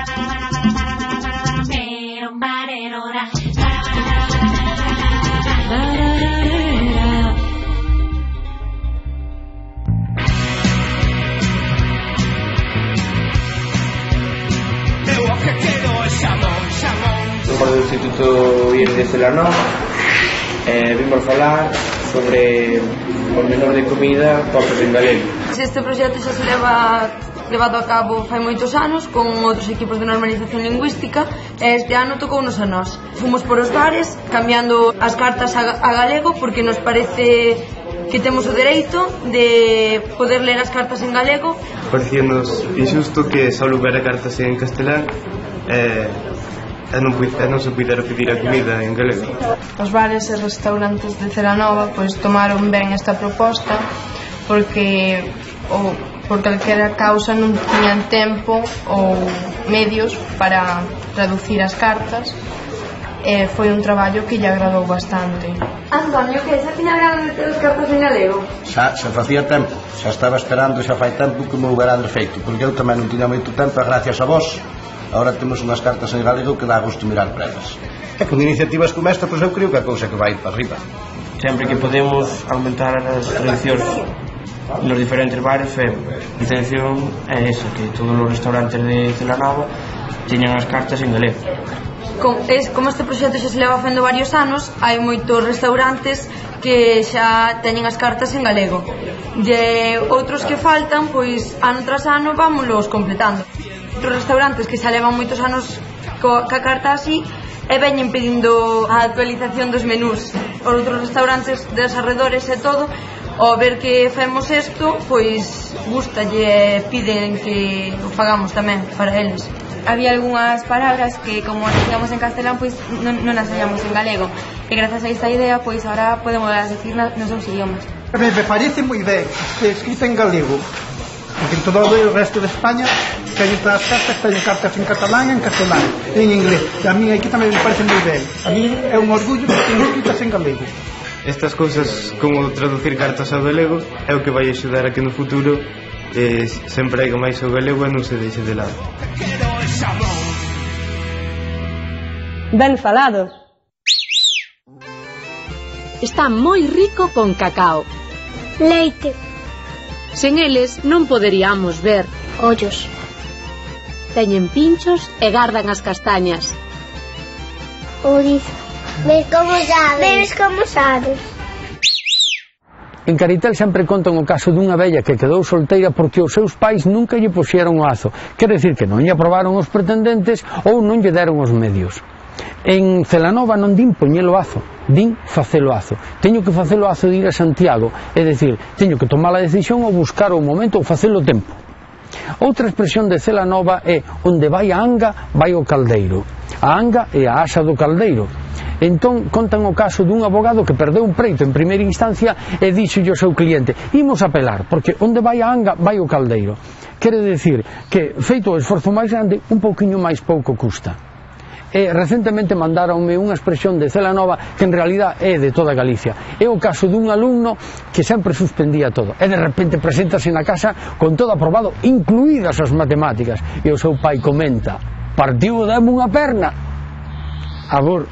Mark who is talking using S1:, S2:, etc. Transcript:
S1: Somos do Instituto IES de Celanova. Vimos falar sobre o menor de comida postos en galego.
S2: Este proxecto xa se levado a cabo fai moitos anos con outros equipos de normalización lingüística e este ano tocounos a nós. Fomos por os bares cambiando as cartas a galego porque nos parece que temos o dereito de poder ler as cartas en galego.
S3: Parecíanos injusto que só houbera cartas en castelán e non se pudera pedir a comida en galego.
S4: Os bares e restaurantes de Celanova pois tomaron ben esta proposta porque por calquera causa non tiñan tempo ou medios para traducir as cartas e foi un traballo que lle agradou bastante.
S2: Antonio, que xa tiña ganas de ter as cartas en galego?
S5: Xa facía tempo, xa estaba esperando, xa fai tempo que me houberades feito, porque eu tamén non tiña moito tempo e gracias a vos agora temos unhas cartas en galego que dá gusto mirar para elas. E con iniciativas como esta, pois eu creo que a cousa que vai para arriba.
S1: Sempre que podemos aumentar as traduccións nos diferentes bares, a intención é esa, que todos os restaurantes de Celanova teñan as cartas en galego.
S2: Como este proxecto xa se leva facendo varios anos, hai moitos restaurantes que xa teñen as cartas en galego. E outros que faltan, pois ano tras ano vámonos completando. Outros restaurantes que xa levan moitos anos ca carta así e veñen pedindo a actualización dos menús. Os outros restaurantes dos arredores e todo, ao ver que femos isto, pois gustalle e piden que o fagamos tamén para eles.
S6: Había algunhas palabras que, como as digamos en castelán, pois non as sabíamos en galego. E grazas a esta idea, pois ahora podemos decir nos seus idiomas.
S7: Me parece moi ben escrita en galego, porque en todo o resto de España teñen todas as cartas en catalán e en castelán, en inglés. E a mí aquí tamén me parece moi ben. A mí é un orgullo que teñen escritas en galego.
S3: Estas cousas como traducir cartas ao galego é o que vai axudar a que no futuro se emprega máis o galego e non se deixe de lado.
S8: Ben falado.
S9: Está moi rico con cacao.
S10: Leite.
S9: Sen eles non poderíamos ver.
S10: Ollos.
S9: Teñen pinchos e gardan as castañas.
S10: Ourizo. Ves como sabes.
S11: En Caritel sempre contan o caso dunha vella que quedou solteira porque os seus pais nunca lle puxeron o azo. Quer decir que non lle aprobaron os pretendentes ou non lle deron os medios. En Celanova non din poñelo azo, din facelo azo. Teño que facelo azo de ir a Santiago, é dicir, teño que tomar a decisión ou buscar o momento ou facelo tempo. Outra expresión de Celanova é onde vai a anga, vai o caldeiro. A anga é a asa do caldeiro. Entón contan o caso dun abogado que perdeu un preito en primeira instancia e dixolle ao seu cliente: imos apelar, porque onde vai a anga, vai o caldeiro. Quere decir que, feito o esforzo máis grande, un pouquiño máis pouco custa. E recentemente mandaronme unha expresión de Celanova que en realidad é de toda Galicia. É o caso dun alumno que sempre suspendía todo e de repente preséntase na casa con todo aprobado, incluídas as matemáticas, e o seu pai comenta: partiu dame unha perna. Agora